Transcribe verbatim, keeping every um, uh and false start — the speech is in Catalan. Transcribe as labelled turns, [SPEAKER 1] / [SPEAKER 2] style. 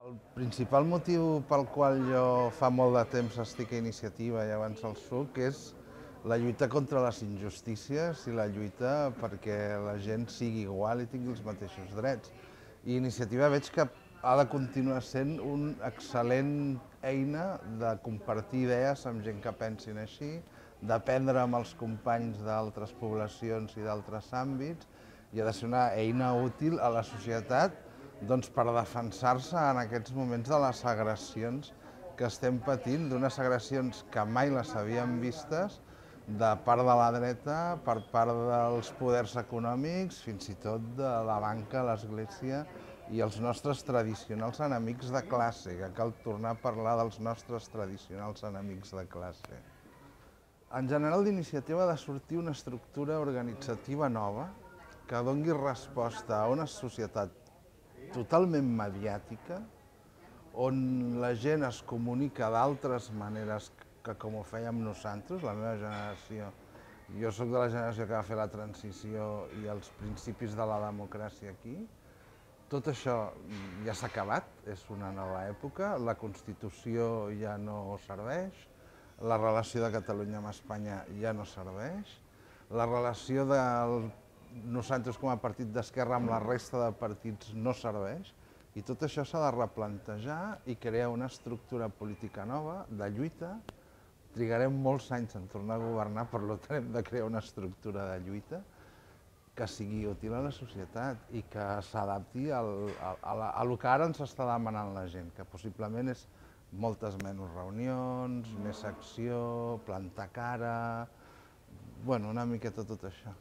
[SPEAKER 1] El principal motiu pel qual jo fa molt de temps estic a Iniciativa i abans el soc és la lluita contra les injustícies i la lluita perquè la gent sigui igual i tingui els mateixos drets. I Iniciativa veig que ha de continuar sent una excel·lent eina de compartir idees amb gent que pensin així, d'aprendre amb els companys d'altres poblacions i d'altres àmbits, i ha de ser una eina útil a la societat doncs, per defensar-se en aquests moments de les agressions que estem patint, d'unes agressions que mai les havíem vistes, de part de la dreta, per part dels poders econòmics, fins i tot de la banca, l'Església i els nostres tradicionals enemics de classe, que cal tornar a parlar dels nostres tradicionals enemics de classe. En general, d'Iniciativa ha de sortir una estructura organitzativa nova que doni resposta a una societat totalment mediàtica, on la gent es comunica d'altres maneres que com ho fèiem nosaltres, la meva generació. Jo soc de la generació que va fer la transició i els principis de la democràcia aquí. Tot això ja s'ha acabat, és una nova època, la Constitució ja no serveix, la relació de Catalunya amb Espanya ja no serveix, la relació del nosaltres com a partit d'esquerra amb la resta de partits no serveix, i tot això s'ha de replantejar i crear una estructura política nova de lluita. Trigarem molts anys en tornar a governar, per tant hem de crear una estructura de lluita que sigui útil a la societat i que s'adapti al que ara ens està demanant la gent, que possiblement és moltes menys reunions, més acció, plantar cara, bueno, una miqueta tot això.